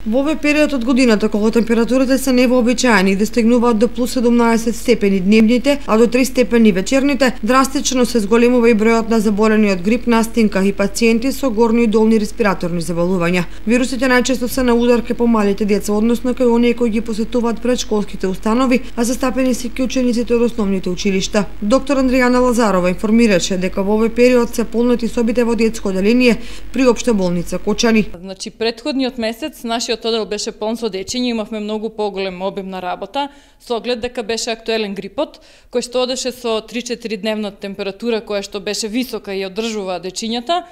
Во овој период од годината, кога температурите се невообичаени и достигнуваат до плюс 17 степени дневните, а до 3 степени вечерните, драстично се зголемува и бројот на заболени од грип, настинка и пациенти со горни и долни респираторни заболувања. Вирусите најчесто се на удар кај помалите деца, односно кај оние кои ги посетуваат предшколските установи, а застапени се кај учениците од основните училишта. Доктор Андријана Лазарова информираше дека во овој период се полнети собите во детско оделение при Општа болница Кочани. Значи претходниот месец нашиот одел беше полн со дечиња, имавме многу поголем обем на работа, со оглед дека беше актуелен грипот, кој што одеше со 3-4 дневна температура, која што беше висока и одржува дечињата.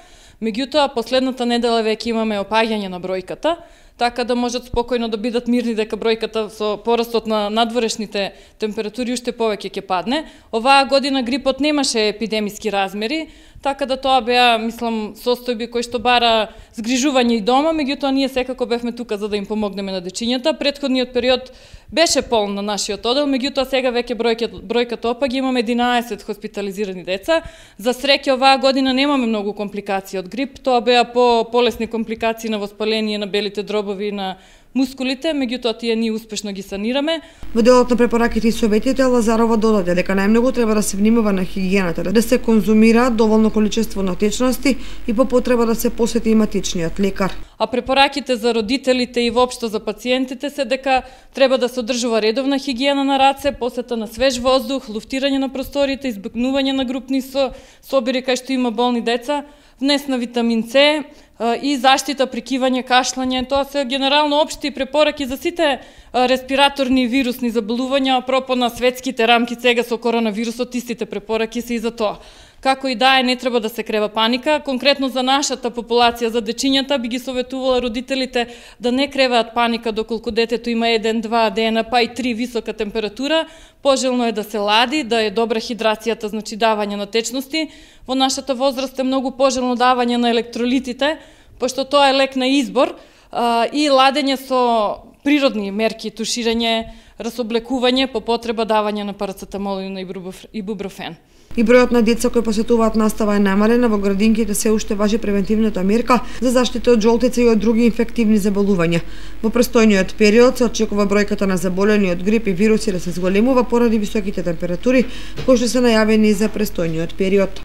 Меѓутоа, последната недела веќе имаме опаѓање на бројката, така да можат спокојно да бидат мирни дека бројката со порастот на надворешните температури уште повеќе ќе падне. Оваа година грипот немаше епидемиски размери, така да тоа беа, мислам, состојби кои што бара згрижување и дома, меѓутоа ние секако бевме тука за да им помогнеме на дечињата. Претходниот период беше полн на нашиот одел, меѓутоа сега веќе бројката опаѓа, имаме 11 хоспитализирани деца. За среќа оваа година немаме многу компликации од грип, тоа беа полесни компликации на воспаление на белите дробови на мускулите, меѓутоа тие ние успешно ги санираме. Во делот на препораките и советите, Лазарова додаде дека најмногу треба да се внимава на хигиената, да се конзумираат доволно количество на течности и по потреба да се посети и матичниот лекар. А препораките за родителите и воопшто за пациентите се дека треба да се одржува редовна хигиена на раце, посета на свеж воздух, луфтирање на просториите, избегнување на групни собири кај што има болни деца, внес на витамин С и заштита при кивање, кашлање. Тоа се генерално општи препораки за сите респираторни и вирусни заболувања, апропо на светските рамки сега со коронавирусот, истите препораки се и за тоа. Како и да е, не треба да се крева паника. Конкретно за нашата популација, за дечињата, би ги советувала родителите да не креваат паника доколку детето има 1-2 дена, па и 3 висока температура. Пожелно е да се лади, да е добра хидрацијата, значи давање на течности. Во нашата возраст е многу пожелно давање на електролитите, пошто тоа е лек на избор, и ладење со природни мерки, туширање, расоблекување, по потреба давање на парацетамол и ибупрофен. И бројот на деца кои посетуваат настава е намалена, во градинките се уште важи превентивната мерка за заштита од жолтица и од други инфективни заболувања. Во престојниот период се очекува бројката на заболени од грип и вируси да се зголемува поради високите температури кои што се најавени за престојниот период.